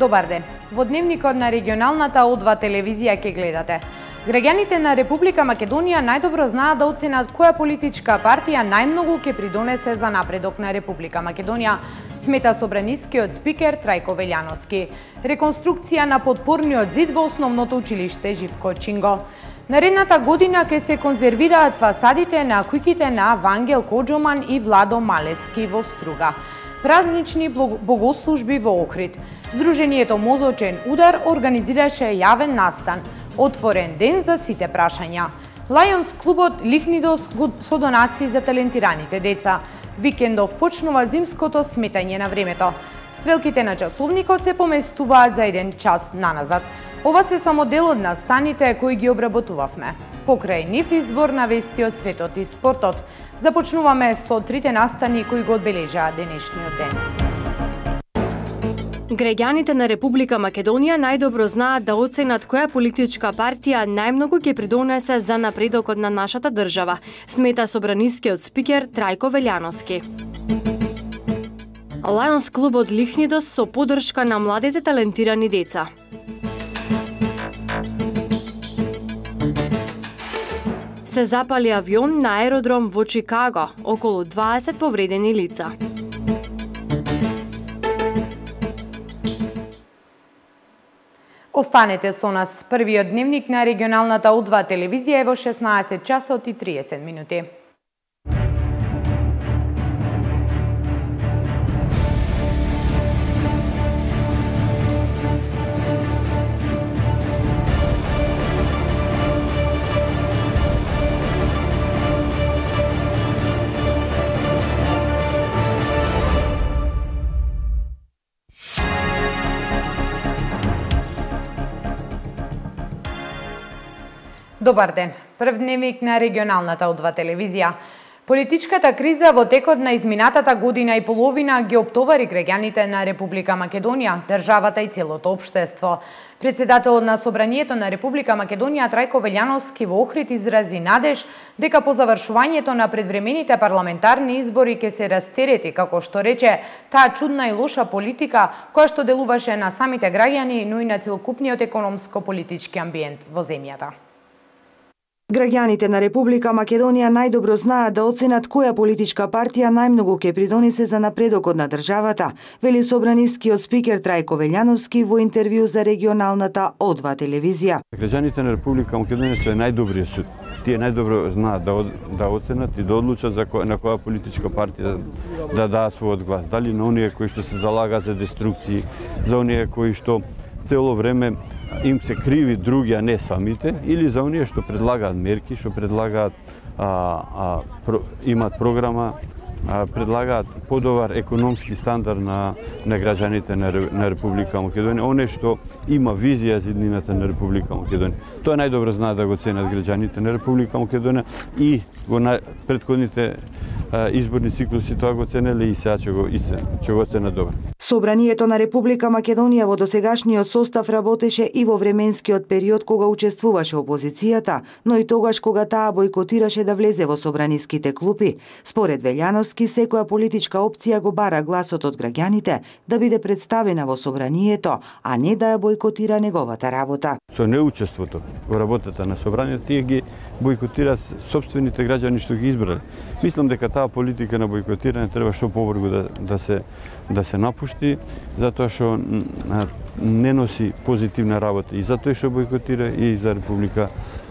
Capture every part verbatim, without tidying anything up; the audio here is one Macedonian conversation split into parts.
Добар ден. Во дневникот на регионалната О два телевизија ќе гледате. Граѓаните на Република Македонија најдобро знаат да оценат која политичка партија најмногу ќе придонесе за напредок на Република Македонија, смета собранискиот спикер Трајко Велјановски. Реконструкција на подпорниот зид во основното училиште Живко Чинго. Наредната година ќе се конзервираат фасадите на куќите на Вангел Коџоман и Владо Малески во Струга. Празнични богослужби во Охрид. Сдруженијето Мозочен удар организираше јавен настан. Отворен ден за сите прашања. Лајонс клубот Лихнидос со донации за талентираните деца. Викендов почнува зимското сметање на времето. Стрелките на часовникот се поместуваат за еден час наназад. Ова се само дел од настаните кои ги обработувавме. Покрај нив избор на вести од светот и спортот. Започнуваме со трите настани кои го одбележаа денешниот ден. Граѓаните на Република Македонија најдобро знаат да оценат која политичка партија најмногу ќе придонесе за напредокот на нашата држава, смета собранискиот спикер Трајко Велјановски. Лајонс клубот Лихнидос со поддршка на младите талентирани деца. Се запали авион на аеродром во Чикаго, околу дваесет повредени лица. Останете со нас. Првиот дневник на регионалната О два телевизија е во шеснаесет часот и триесет минути. Добар ден. Прв дневник на регионалната О два телевизија. Политичката криза во текот на изминатата година и половина ги оптовари граѓаните на Република Македонија, државата и целото општество. Председателот на Собранието на Република Македонија Трајко Велјановски во Охрид изрази надеж дека по завршувањето на предвремените парламентарни избори ќе се растерети, како што рече, таа чудна и лоша политика која што делуваше на самите граѓани, но и на целокупниот економско-политички амбиент во земјата. Граѓаните на Република Македонија најдобро знаат да оценат која политичка партија најмногу ќе придонесе за напредокот на државата, вели собранискиот спикер Трајко Велјановски во интервју за регионалната О два телевизија. Граѓаните на Република Македонија се најдобриот суд. Тие најдобро знаат да, да оценат и да одлучат за која, на која политичка партија да, да даат својот глас. Дали на оние кои што се залага за деструкции, за оние кои што цело време им се криви други, а не самите, или за оние што предлагаат мерки, што предлагаат, а, а, про, имат програма, а, предлагаат подобар економски стандард на, на граѓаните на, на Република Македонија, оние што има визија за иднината на Република Македонија. Тоа најдобро знаат да го ценат граѓаните на Република Македонија и го на предходните изборни циклуси тоа го ценеле и сега ќе го, ќе го ценат добро. Собранието на Република Македонија во досегашниот состав работеше и во временскиот период кога учествуваше опозицијата, но и тогаш кога таа бојкотираше да влезе во собраниските клупи. Според Велјановски, секоја политичка опција го бара гласот од граѓаните да биде представена во собранието, а не да ја бојкотира неговата работа. Со неучеството во работата на собранието, тие ги бојкотираат сопствените граѓани што ги избрале. Мислам дека таа политика на бојкотирање треба што побрзо да, да се да се напушти, затоа што не носи позитивна работа и затоа што бојкотира и за Република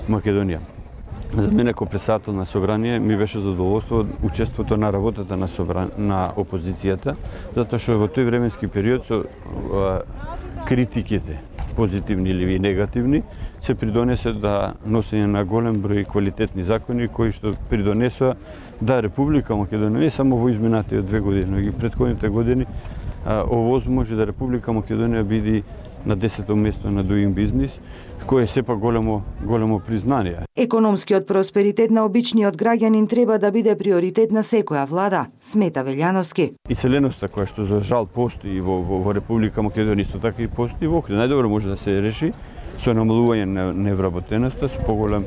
Македонија. За мене како председател на собрание ми беше задоволство учеството на работата на собран... на опозицијата, затоа што во тој временски период со а, критиките, позитивни или негативни, се придонесе да носење на голем број квалитетни закони кои што придонесоа да Република Македонија не само во изминатите две години, но и претходните години овозможи да Република Македонија биде на десето место на Doing Business, кој е сепак големо големо признание. Економскиот просперитет на обичниот граѓанин треба да биде приоритет на секоја влада, смета Велјановски. Иселеноста која што за жал постои во, во, во Република Македонија, исто така и постои во Охрид, најдобро може да се реши со намалување на невработеноста, со поголем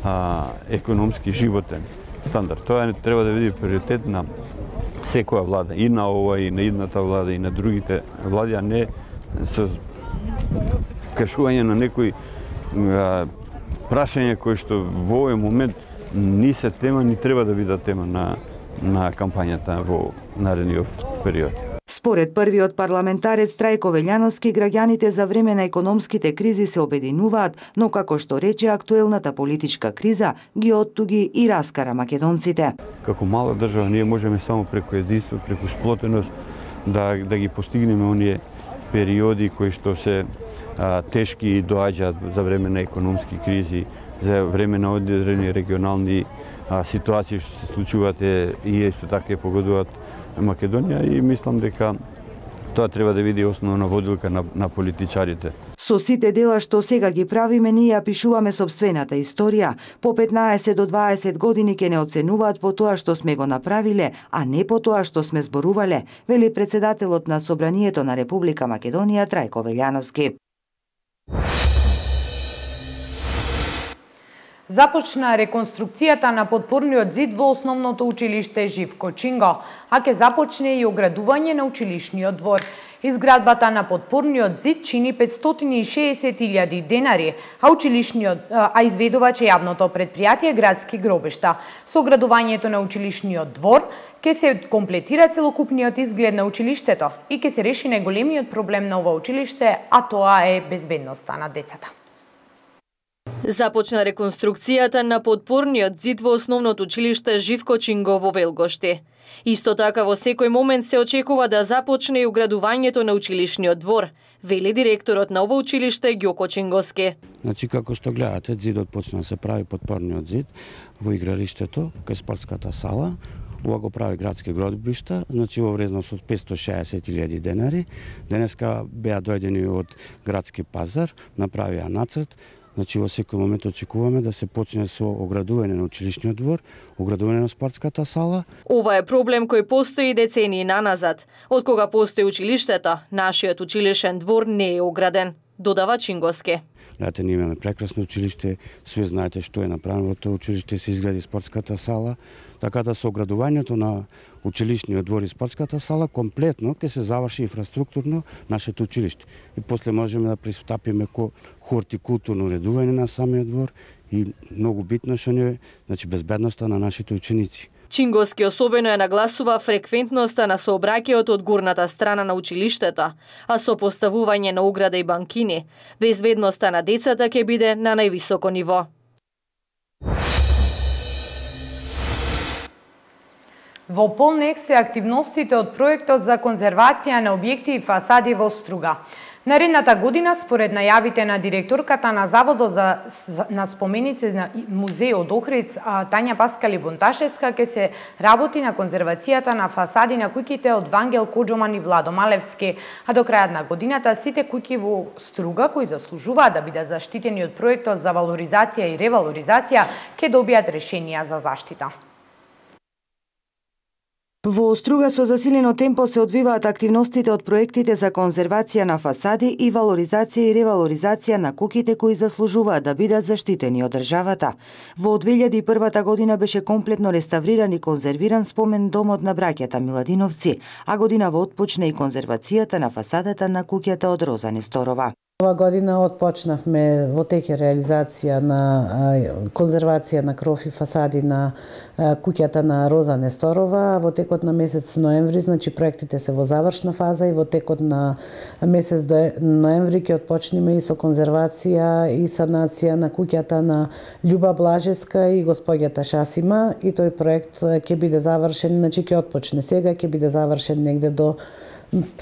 а, економски животен стандард. Тоа треба да биде приоритет на секоја влада, и на ова, и на идната влада, и на другите влади, а не со кршување на некои а, прашања кои што во овој момент ни се тема, ни треба да бидат тема на, на кампањата во наредниот период. Според првиот парламентарец Трајко Велјановски, граѓаните за време на економските кризи се обединуваат, но како што рече, актуелната политичка криза ги оттуги и раскара македонците. Како мала држава ние можеме само преку единство, преку сплотеност да, да ги постигнеме оние периоди кои што се а, тешки и доаѓаат за време на економски кризи, за време на одредени регионални а, ситуации што се случуваат и исто така погодуваат Македонија, и мислам дека тоа треба да биде основна водилка на, на политичарите. Со сите дела што сега ги правиме, ние ја пишуваме сопствената историја. По петнаесет до дваесет години ќе не оценуваат по тоа што сме го направиле, а не по тоа што сме зборувале, вели председателот на Собранието на Република Македонија Трајко Велјановски. Започна реконструкцијата на подпорниот зид во основното училиште Живко Чинго, а ќе започне и оградување на училишниот двор. Изградбата на подпорниот зид чини петстотини и шеесет илјади денари, а училишниот а изведувач е јавното претпријатие Градски гробишта. Со оградувањето на училишниот двор ќе се комплетира целокупниот изглед на училиштето и ќе се реши најголемиот проблем на ова училиште, а тоа е безбедноста на децата. Започна реконструкцијата на подпорниот зид во основното училиште Живко Чинго во Велгошти. Исто така во секој момент се очекува да започне и оградувањето на училишниот двор, вели директорот на ово училиште Ѓоко Чингоски. Значи, како што гледате, зидот почна да се прави подпорниот зид во игралиштето, кај спортската сала. Ова го прави Градски гробишта, значи во вредност од петстотини и шеесет илјади денари. Денеска беа дојдени од Градски пазар, направија нацрт. Значи, во секој момент очекуваме да се почне со оградување на училишниот двор, оградување на спортската сала. Ова е проблем кој постои децении наназад. Од кога постои училиштето, нашиот училишен двор не е ограден, додава Чингоски. Знаете, ние имаме прекрасно училиште, све знаете што е направено во тоа училиште, се изгради спортската сала, така да со оградувањето на училишниот двор и спортската сала комплетно ќе се заврши инфраструктурно нашето училиште. И после можеме да пристапиме ко хортикултурно уредување на самиот двор и многу битно што е, значи, безбедноста на нашите ученици. Чингоски особено ја нагласува фреквентноста на сообраќајот од горната страна на училиштето, а со поставување на ограда и банкини, безбедноста на децата ќе биде на највисоко ниво. Во полнек се активностите од проектот за конзервација на објекти и фасади во Струга. Наредната година, според најавите на директорката на Заводот за на споменици на музејот Охридс, Тања Паскали Бунташевска, ќе се работи на конзервацијата на фасади на куќите од Вангел Коџоман и Владо Малевски, а до крајот на годината сите куќи во Струга кои заслужуваат да бидат заштитени од проектот за валоризација и ревалоризација ќе добијат решенија за заштита. Во Струга со засилено темпо се одвиваат активностите од проектите за конзервација на фасади и валоризација и ревалоризација на куќите кои заслужуваат да бидат заштитени од државата. Во две илјади и прва година беше комплетно реставриран и конзервиран спомен домот на браќата Миладиновци, а годинава отпочна и конзервацијата на фасадата на куќата од Роза Несторова. Ова година отпочнавме во теќе реализација на конзервација на кров и фасади на куќата на Роза Несторова. Во текот на месец ноември, значи проектите се во завршна фаза, и во текот на месец ноември ќе отпочнеме и со конзервација и санација на куќата на Љуба Блажеска и господјата Шасима, и тој проект ќе биде завршен, значи ќе отпочне сега, ќе биде завршен негде до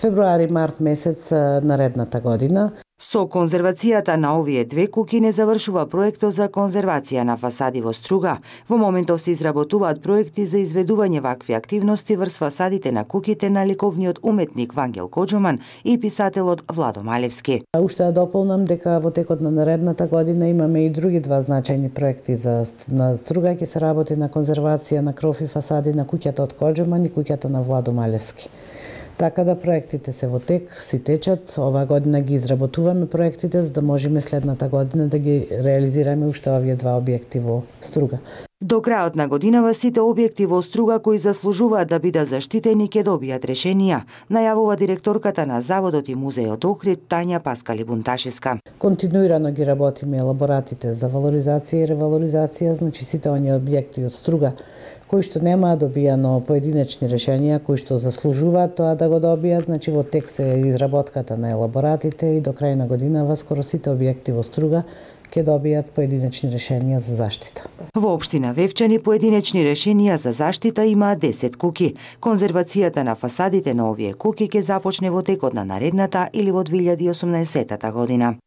февруари-март месец наредната година. Со конзервацијата на овие две куќи не завршува проектот за конзервација на фасади во Струга. Во моментов се изработуваат проекти за изведување вакви активности врз фасадите на куќите на ликовниот уметник Вангел Коџоман и писателот Владо Малевски. Уште да дополнам дека во текот на наредната година имаме и други два значајни проекти за на Струга. Ќе се работи на конзервација на кров и фасади на куќата од Коџоман и куќата на Владо Малевски. Така да проектите се во тек, си течат. Ова година ги изработуваме проектите за да можеме следната година да ги реализираме уште овие два објекти во Струга. До крајот на годинава сите објекти во Струга кои заслужуваат да бидат заштитени ќе добијат решенија, најавува директорката на Заводот и музејот Охрид Тања Паскали-Бунташиска. Континуирано ги работиме елаборатите за валоризација и ревалоризација, значи сите оние објекти од Струга кои што немаа добијано поединечни решенија, кои што заслужуваат тоа да го добијат, значи во тек се изработката на елаборатите и до крај на годинава скоро сите објекти во Струга ќе добијат поединечни решенија за заштита. Во општина Вевчани поединечни решенија за заштита имаат десет куќи. Конзервацијата на фасадите на овие куќи ќе започне во текот на наредната или во две илјади и осумнаесетта година.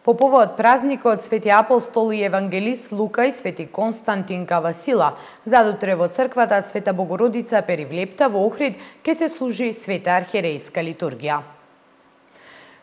По повод празникот Свети апостол и евангелист Лука и Свети Константин Кавасила, задутре во црквата Света Богородица Перивлепта во Охрид ќе се служи света архиерејска литургија.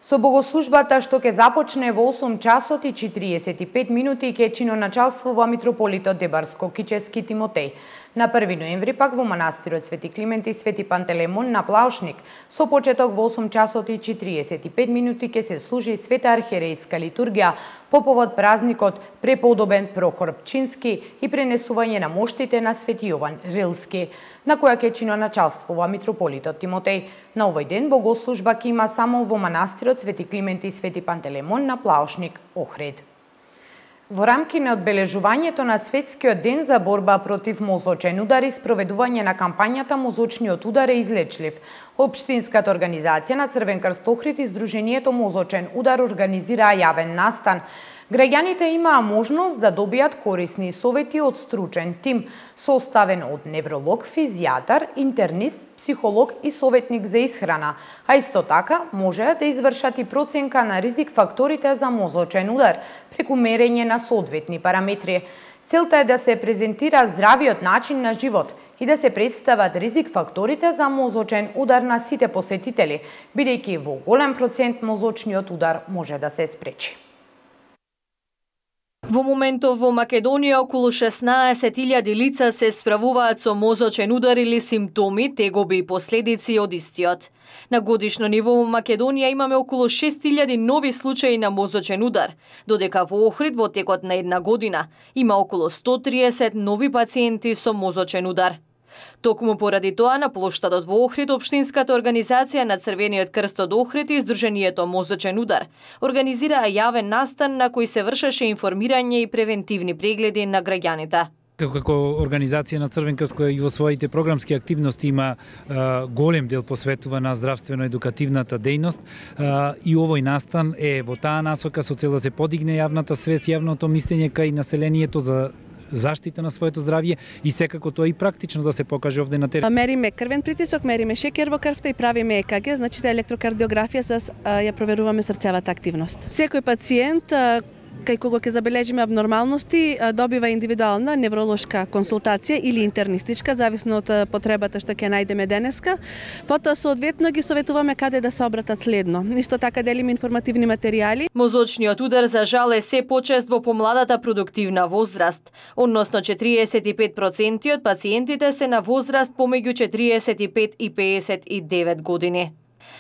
Со богослужбата што ќе започне во осум часот и четириесет и пет минути ќе чиноначалствува митрополитот Дебарско-Кичевски Тимотеј. На први ноември пак во манастирот Свети Климент и Свети Пантелеймон на Плаушник со почеток во осум часот и четириесет и пет минути ќе се служи света архиерејска литургија по повод празникот преподобен Прохор Пчински и пренесување на моштите на Свети Јован Рилски, на која ќе чиноначалствува митрополитот Тимотеј. На овој ден богослужба ќе има само во манастирот Свети Климент и Свети Пантелеймон на Плаушник, Охрид. Во рамки на одбележувањето на Светскиот ден за борба против мозочен удар и спроведување на кампањата Мозочниот удар е излечлив, Општинската организација на Црвен крст Охрид и Сдруженијето Мозочен удар организираа јавен настан. Граѓаните имаа можност да добијат корисни совети од стручен тим, составен од невролог, физијатар, интернист, психолог и советник за исхрана, а исто така можеа да извршат и проценка на ризик факторите за мозочен удар преку мерење на соодветни параметри. Целта е да се презентира здравиот начин на живот и да се представат ризик факторите за мозочен удар на сите посетители, бидејќи во голем процент мозочниот удар може да се спречи. Во моментов во Македонија околу шеснаесет илјади лица се справуваат со мозочен удар или симптоми, тегоби и последици од истиот. На годишно ниво во Македонија имаме околу шест илјади нови случаи на мозочен удар, додека во Охрид во текот на една година има околу сто триесет нови пациенти со мозочен удар. Токму поради тоа на плоштадот во Охрид Општинската организација на Црвениот крст од Охрид и Сдруженијето Мозочен удар организираа јавен настан на кој се вршеше информирање и превентивни прегледи на граѓаните. Како организација на Црвен крст која и во своите програмски активности има а, голем дел посветува на здравствено-едукативната дејност а, и овој настан е во таа насока со цел да се подигне јавната свест, јавното мислење кај населението за заштита на своето здравје и секако тоа и практично да се покаже овде на терен. Мериме крвен притисок, мериме шекер во крвта и правиме Е К Г, значи електрокардиографија с ја проверуваме срцевата активност. Секој пациент кај кого ќе забележиме абнормалности, добива индивидуална невролошка консултација или интернистичка, зависно од потребата што ќе најдеме денеска. Потоа соодветно ги советуваме каде да се обратат следно. Исто така делиме информативни материјали. Мозочниот удар за жал е се почест во помладата продуктивна возраст, односно четириесет и пет проценти од пациентите се на возраст помеѓу четириесет и пет и пеесет и девет години.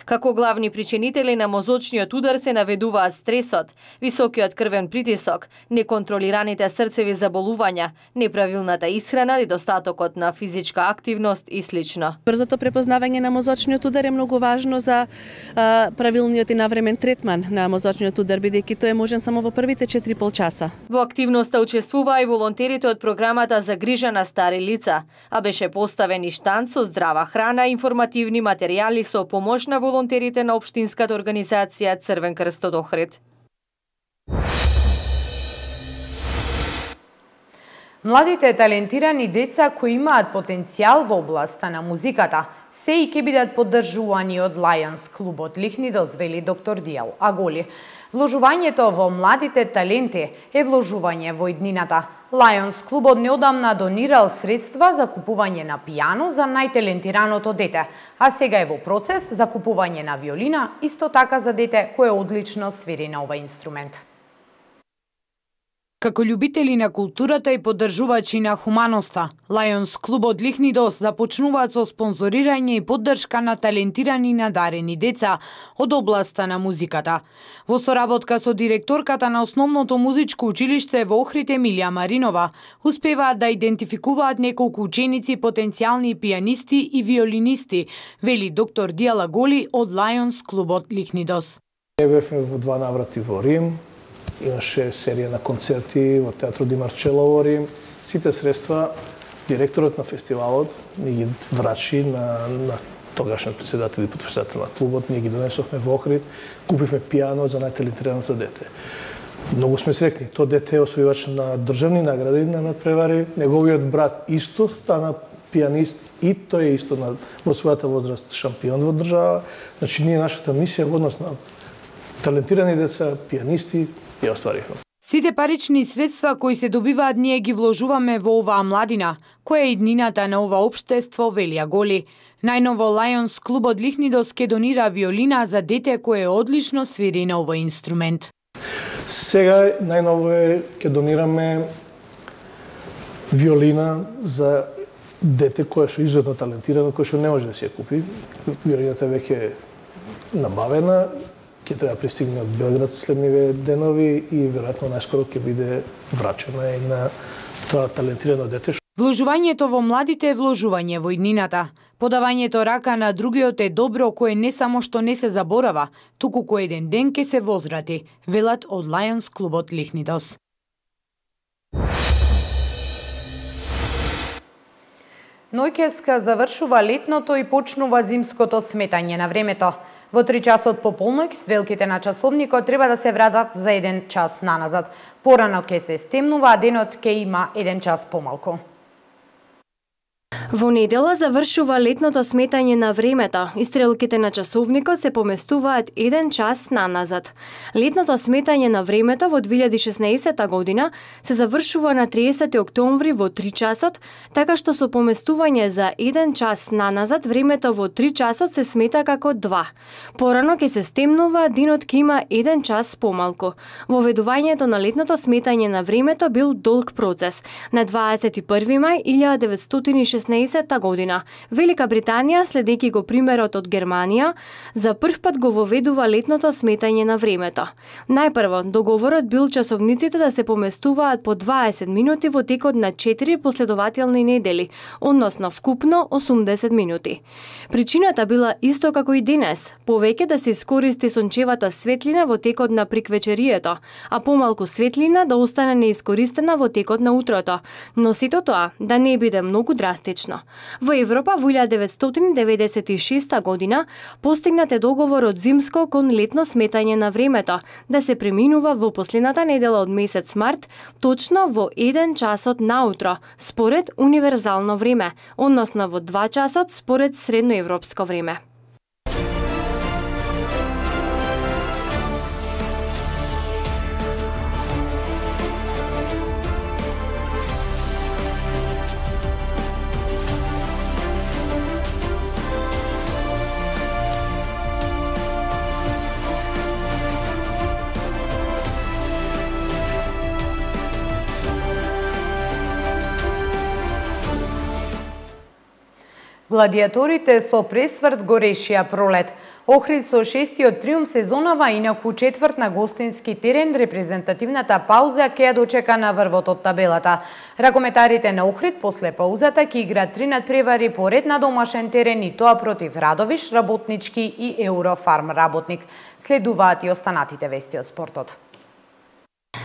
Како главни причинители на мозочниот удар се наведуваат стресот, високиот крвен притисок, неконтролираните срцеви заболувања, неправилната исхрана, недостатокот на физичка активност и слично. Брзото препознавање на мозочниот удар е многу важно за а, правилниот и навремен третман на мозочниот удар, бидејќи тој е можен само во првите четири и пол часа. Во активноста учествуваа и волонтерите од програмата за грижа на стари лица, а беше поставен и штанд со здрава храна и информативни материјали со помош на волонтерите на Општинската организација Црвен крст од Охрид. Младите талентирани деца кои имаат потенцијал во областа на музиката се и ќе бидат поддржувани од Lions клубот Лихнидос, вели доктор Дијал Аголи. Вложувањето во младите таленти е вложување во иднината. Lions клубот неодамна донирал средства за купување на пијано за најталентираното дете, а сега е во процес за купување на виолина, исто така за дете кое одлично свири на овој инструмент. Како љубители на културата и поддржувачи на хуманоста, Лајонс клубот Лихнидос започнуваат со спонзорирање и поддршка на талентирани и надарени деца од областа на музиката. Во соработка со директорката на основното музичко училиште во Охрид Емилија Маринова, успеваат да идентификуваат неколку ученици потенцијални пијанисти и виолинисти, вели доктор Дијала Голи од Лајонс клубот Лихнидос. Ние бевме во два наврати во Рим, имаше серија на концерти во Театро Ди Марчело во Рим. Сите средства директорот на фестивалот ни ги врачи на, на тогашниот председател и потписател на клубот, ние ги донесовме во Охрид, купивме пијано за најталентираното дете. Многу сме срекни. То дете е освојувач на државни награди на надпревари, неговиот брат исто стана пијанист и тој е исто на, во својата возраст шампион во држава. Значи, ние нашата мисија во однос на талентирани деца, пијанисти, ја остваривме. Сите парични средства кои се добиваат ние ги вложуваме во оваа младина, која е иднината на ова општество, велија Голи. Најново Лајонс клубот Лихнидос ке донира виолина за дете кое одлично свири на овој инструмент. Сега најново е ке донираме виолина за дете кое што е изумно талентирано, кое што не може да се купи. Виолината веќе е набавена, ќе треба пристигне од Белград следниве денови и веројатно најскоро ќе биде врачена и на тоа талентирано дете. Вложувањето во младите е вложување во иднината. Подавањето рака на другиот е добро кое не само што не се заборава, туку кој еден ден ке се возврати, велат од Лајонс клубот Лихнидос. Ноќеска завршува летното и почнува зимското сметање на времето. Во три часот по полноќ стрелките на часовникот треба да се вратат за еден час наназад. Порано ке се стемнува, а денот ке има еден час помалку. Во недела завршува летното сметање на времето и стрелките на часовникот се поместуваат еден час наназад. Летното сметање на времето во две илјади и шеснаесетта година се завршува на триесети октомври во три часот, така што со поместување за еден час наназад времето во три часот се смета како два. Порано ќе се стемнува, денот ќе има еден час помалку. Воведувањето на летното сметање на времето бил долг процес. На дваесет и први мај илјадесетстотини деветстотини и шеснаесетта година, Велика Британија, следејќи го примерот од Германија, за прв пат го воведува летното сметање на времето. Најпрво, договорот бил часовниците да се поместуваат по дваесет минути во текот на четири последователни недели, односно вкупно осумдесет минути. Причината била исто како и денес, повеќе да се искористи сончевата светлина во текот на приквечерието, а помалку светлина да остане неискористена во текот на утрото, но сето тоа да не биде многу драстично. Во Европа во илјадесет деветстотини деветдесет и шеста година постигнат е договор од зимско кон летно сметање на времето, да се преминува во последната недела од месец март, точно во еден часот наутро, според универзално време, односно во два часот според средноевропско време. Гладиаторите со пресврт го решија пролет. Охрид со шестиот триумф сезонава, инаку четврт на гостински терен, репрезентативната пауза ќе ја дочека на врвот од табелата. Ракометарите на Охрид после паузата ќе играат три надпревари поред на домашен терен и тоа против Радовиш, Работнички и Еврофарм Работник. Следуваат и останатите вести од спортот.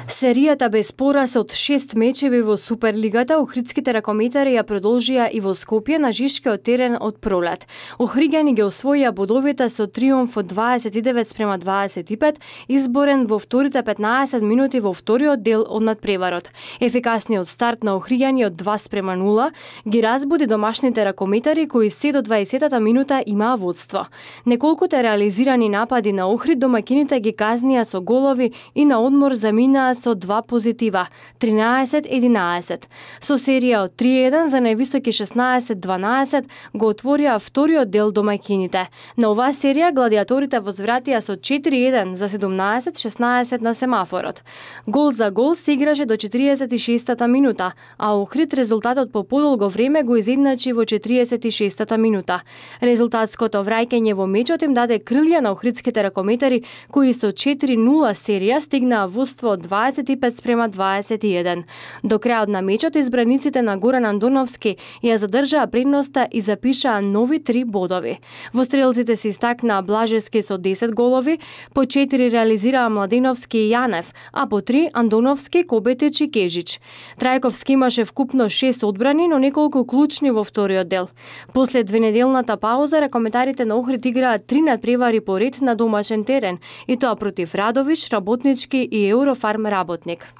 Серијата без пораз од шест мечеви во Суперлигата охридските ракометари ја продолжија и во Скопје на жишкиот терен од пролет. Охриѓани ги освоија бодовите со триумф од дваесет и девет спрема дваесет и пет, изборен во вторите петнаесет минути во вториот дел од надпреварот. Ефикасниот старт на охриѓани од два спрема нула ги разбуди домашните ракометари кои се до дваесетата минута имаа водство. Неколкуте реализирани напади на Охрид домакините ги казнија со голови и на одмор замина стигнаа со два позитива, тринаесет единаесет. Со серија од три еден за највисоки шеснаесет дванаесет го отворија вториот дел домаќините. На оваа серија гладиаторите возвратија со четири еден за седумнаесет шеснаесет на семафорот. Гол за гол се играше до четириесет и шестата минута, а Охрид резултатот по подолго време го изедначи во четириесет и шестата минута. Резултатското враќање во мечот им даде крилја на охридските ракометари кои со четири нула серија стигнаа водство од дваесет и пет спрема дваесет и еден. До крајот на мечот избраниците на Горан Андоновски ја задржаа предноста и запишаа нови три бодови. Во стрелците се истакнаа Блажевски со десет голови, по четири реализираа Младеновски и Јанев, а по три Андоновски, Кобетич и Кежич. Трајковски имаше вкупно шест одбрани, но неколку клучни во вториот дел. После двенеделната пауза ракометарите на Охрид играат три надпревари по ред на домашен терен, и тоа против Радовиш, Работнички и Еврофарм Работник.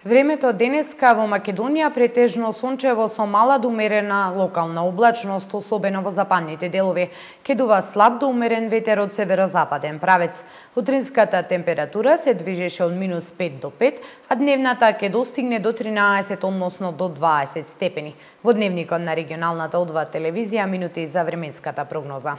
Времето денеска во Македонија претежно сончево со мала до умерена локална облачност, особено во западните делови. Ке дува слаб до умерен ветер од северозападен правец. Утринската температура се движеше од минус пет до пет, а дневната ке достигне до тринаесет, односно до дваесет степени. Во дневникот на регионалната О два телевизија минути за временската прогноза.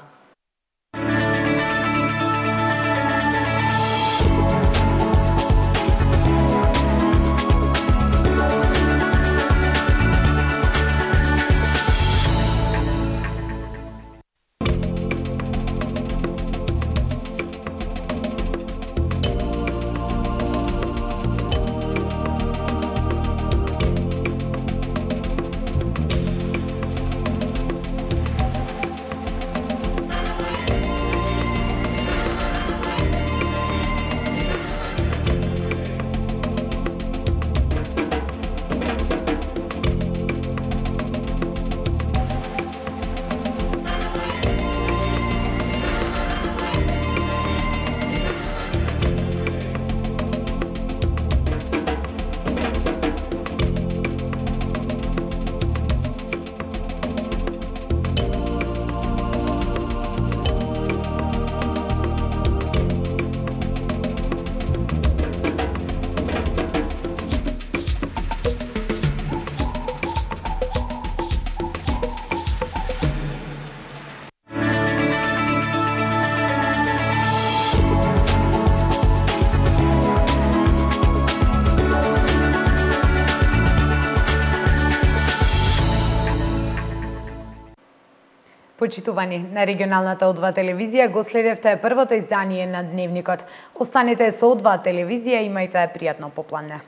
Почитувани, на регионалната О два телевизија го следевте првото издание на Дневникот. Останете со О два телевизија, имајте пријатно попладне.